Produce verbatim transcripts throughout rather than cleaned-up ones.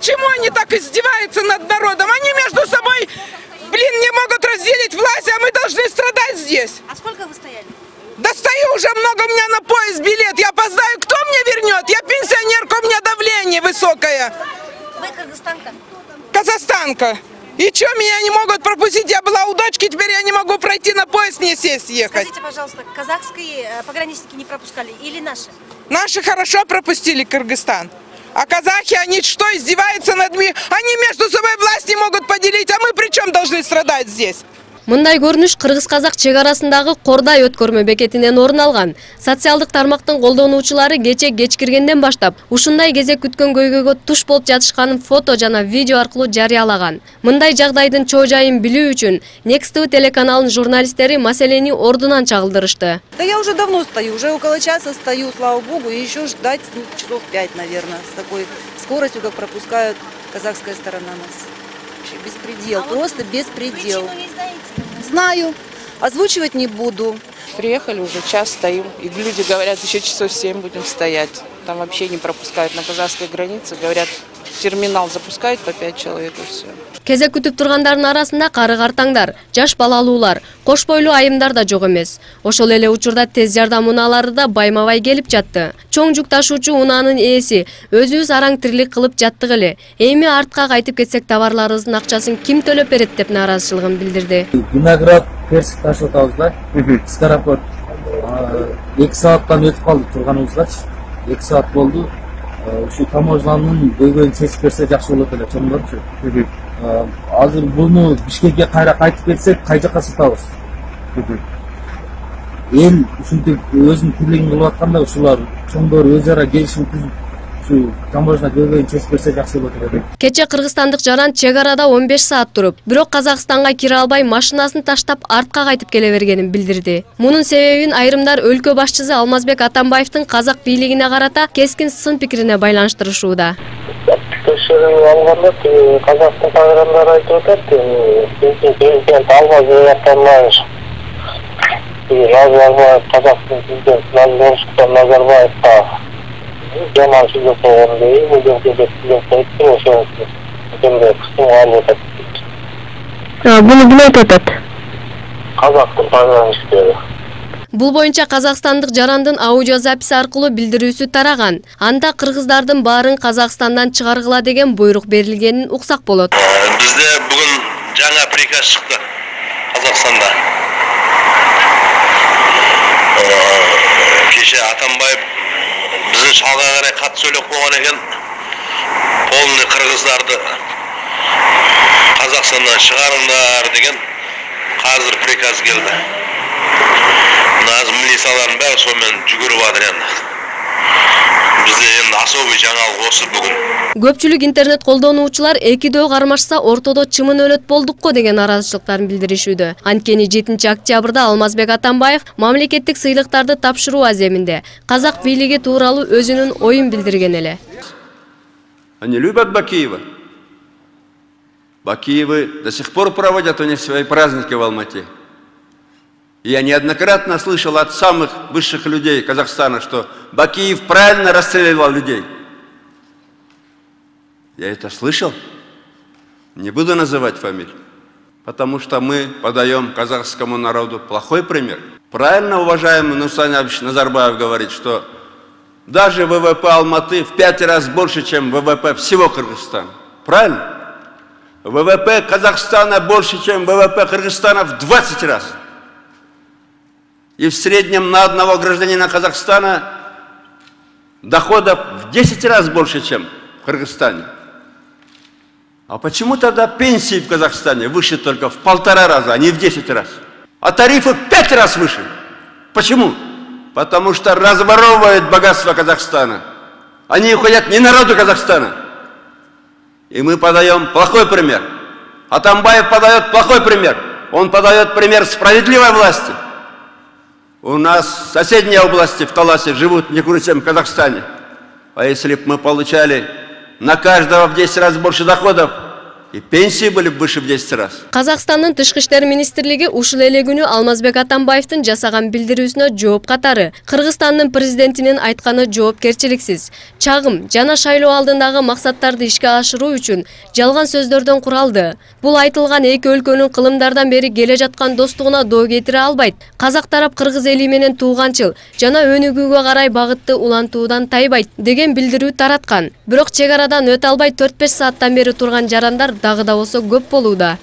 Почему они так издеваются над народом? Они между собой, блин, не могут разделить власть, а мы должны страдать здесь. А сколько вы стояли? Да стою уже много, у меня на поезд билет. Я опоздаю, кто мне вернет? Я пенсионерка, у меня давление высокое. Вы кыргызстанка? Казахстанка. И что, меня не могут пропустить? Я была у дочки, теперь я не могу пройти на поезд, мне сесть, ехать. Скажите, пожалуйста, казахские пограничники не пропускали или наши? Наши хорошо пропустили Кыргызстан. А казахи, они что, издеваются над нами? Они между собой власть не могут поделить, а мы при чем должны страдать здесь? Мындай көрүнүш кыргыз-казак чек арасындагы Кордай өткөрмө бекетинен орун алган. Социалдык тармактын колдонуучулары кече кечкиргенден баштап ушундай кезек күткөн көйгөйгө туш болуп жатышканын фото жана видео аркылуу жарыялаган. Мындай жагдайдын чоо жайын билүү үчүн Next ти ви телеканалынын журналисттери маселени ордунан чагылдырышты. Да я уже давно стою, уже около часа стою, слава богу, и еще ждать ну, часов пять, наверное, с такой скоростью, как пропускают казахская сторона нас. Вообще беспредел, а просто вот беспредел. Причину не знаете? Знаю, озвучивать не буду. Приехали, уже час стоим, и люди говорят, еще часов семь будем стоять. Там вообще не пропускают на казахской границе, говорят, терминал запускают по пять человек и все. Кезек күтүп тургандардын арасында кары картаңдар, жаш балалуулар, кош бойлуу айымдар да жок эмес. Ошол эле учурда тез жардам унаалары да байма-бай келип жатты. Чоң жүк ташуучу унаанын ээси өзүбүз араң тирлик кылып жаттык эле. Эми артка кайтып кетсек товарларыбыздын акчасын ким төлөп берет деп нааразычылыгын билдирди. Виноград, персик ташып атабыз да. Скоропорт. эки сааттан өтүп калды турганыбызгачы. эки саат болду. Ушу таможнанын көйгөйүн чечип берсе жакшы болот эле чоңдорчу. Азыр буну Бишкекке кайра кайтып кетсек, кай жакка сатабыз? Эл ушинтип өзүнүн тирлигин кылып атканда ушулар чоңдор өз ара келишим түзүп ушу таможна көйгөйүн чечип берсе жакшы болот эле. Кече кыргызстандык жаран чек арада он беш саат туруп, бирок Казакстанга кире албай машинасын таштап артка кайтып келе бергенин билдирди. Мунун себебин айрымдар өлкө башчысы Алмазбек Атамбаевдин казак бийлигине карата кескин сын пикирине байланыштырышууда. Текшерүү алганда Казакстан пограндары айтып атат, президент Алмазбек Атамбаев Назарбаев, Казакстан президенти Нурсултан Назарбаевга жаман сөз болгон дейм, бул жерде президент айтты, ошо жерде кыстын алып атат. Буну ким айтып атат? Казактын пограничтери. Бул боюнча казакстандык жарандын аудиозаписи аркылуу билдирүүсү тараган. Анда кыргыздардын баарын Казакстандан чыгаргыла деген буйрук берилгенин уксак болот. Бизде бүгүн жаңа приказ чыкты Казакстанда. Кеше Атамбаев биздин шалга карай кат сүйлөп койгон экен. Полный кыргыздарды Казакстандан чыгарыңдар деген азыр приказ келди. Назым милицияларын бәрі сонымен жүгіріп жатыр енді. Бізде енді особый жаңалық осы бүгін. Көпчүлүк интернет колдонуучулар экидөө кармашса ортодо чымын өлөт болдукко деген наразычылыктарын билдиришүүдө. Анткени жетинчи октябрда Алмазбек Атамбаев мамлекеттик сыйлыктарды тапшыруу аземинде казак бийлиги тууралуу өзүнүн оюн билдирген эле. Они любят Бакиева. Бакиевы до сих пор проводят у них свои праздники в Алмате. Я неоднократно слышал от самых высших людей Казахстана, что Бакиев правильно расстреливал людей. Я это слышал. Не буду называть фамилию. Потому что мы подаем казахскому народу плохой пример. Правильно уважаемый Нурсултан Абишевич Назарбаев говорит, что даже ВВП Алматы в пять раз больше, чем ВВП всего Кыргызстана. Правильно? ВВП Казахстана больше, чем ВВП Кыргызстана в двадцать раз. И в среднем на одного гражданина Казахстана доходов в десять раз больше, чем в Кыргызстане. А почему тогда пенсии в Казахстане выше только в полтора раза, а не в десять раз? А тарифы в пять раз выше. Почему? Потому что разворовывают богатство Казахстана. Они уходят не народу Казахстана. И мы подаем плохой пример. Атамбаев подает плохой пример. Он подает пример справедливой власти. У нас соседние области в Таласе живут не хуже, чем в Казахстане. А если бы мы получали на каждого в десять раз больше доходов, И пенсии были выше в десять раз. Казакстандын Тышкы иштер министрлиги ушул эле күнү Алмазбек Атамбаевдин жасаган билдирүүсүнө жооп катары Кыргызстандын президентинин айтканы жоопкерчиликсиз, чагым жана шайлоо алдындагы максаттарды ишке ашыруу үчүн жалган сөздөрдөн куралды. Бул айтылган эки өлкөнүн кылымдардан бери келе жаткан достугуна доо кетире албайт. Казак тарап кыргыз эли менен тууганчыл жана өнүгүүгө карай багытты улантуудан тайбайт деген билдирүү тараткан. Бирок чек арадан өтө албай төрт беш сааттан бери турган жарандар дагы да болсо көп болууда.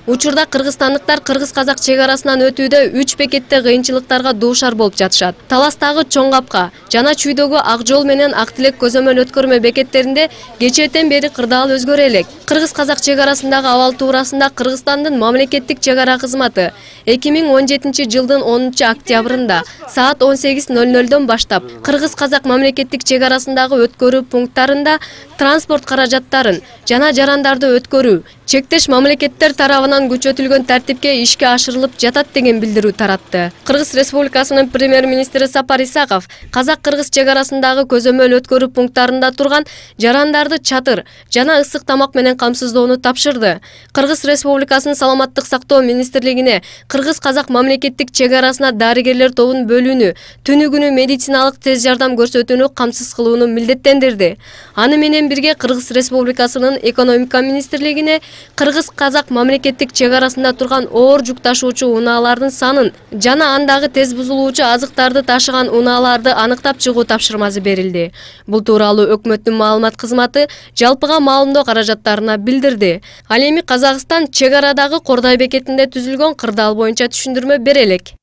Учурда кыргызстандыктар кыргыз-казак чек арасынан өтүүдө үч бекетте кыйынчылыктарга дуушар болуп жатышат. Таластагы Чоң Капка жана Чүйдөгү Ак жол менен Ак Тилек көзөмөл өткөрмө бекеттеринде кечээден бери кырдаал өзгөрө элек. Кыргыз-казак чек арасындагы абал туурасында Кыргызстандын мамлекеттик чек ара кызматы эки миң он жетинчи жылдын онунчу октябрында саат он сегиз ноль нольдон баштап кыргыз-казак мамлекеттик чек арасындагы өткөрүү пункттарында транспорт каражаттарын жана жарандарды өткөрүү чектеш мамлекеттер тарабынан күчөтүлгөн тартипке ишке ашырылып жатат деген билдирүү таратты. Кыргыз Республикасынын премьер-министри Сапар Исаков казак-кыргыз чек арасындагы көзөмөл өткөрүү пункттарында турган жарандарды чатыр жана ысык тамак менен камсыздоону тапшырды. Кыргыз Республикасынын саламаттык сактоо министрлигине кыргыз-казак мамлекеттик чек арасына дарыгерлер тобун бөлүүнү, түнү күнү медициналык тез жардам көрсөтүүнү камсыз кылууну милдеттендирди. Аны менен бирге Кыргыз Республикасынын экономика министрлигине кыргыз-казак мамлекеттик чек арасында турган оор жүк ташуучу унаалардын санын жана андагы тез бузулуучу азыктарды ташыган унааларды аныктап чыгуу тапшырмасы берилди. Бул тууралуу өкмөттүн маалымат кызматы жалпыга маалымдоо каражаттарына билдирди. Ал эми Казакстан чек арадагы Кордай бекетинде түзүлгөн кырдаал боюнча түшүндүрмө бере элек.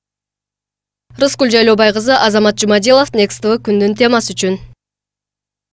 Рыскүл Жайлообай кызы, Азамат Жумадилов, Next тэ вэ күндүн темасы үчүн.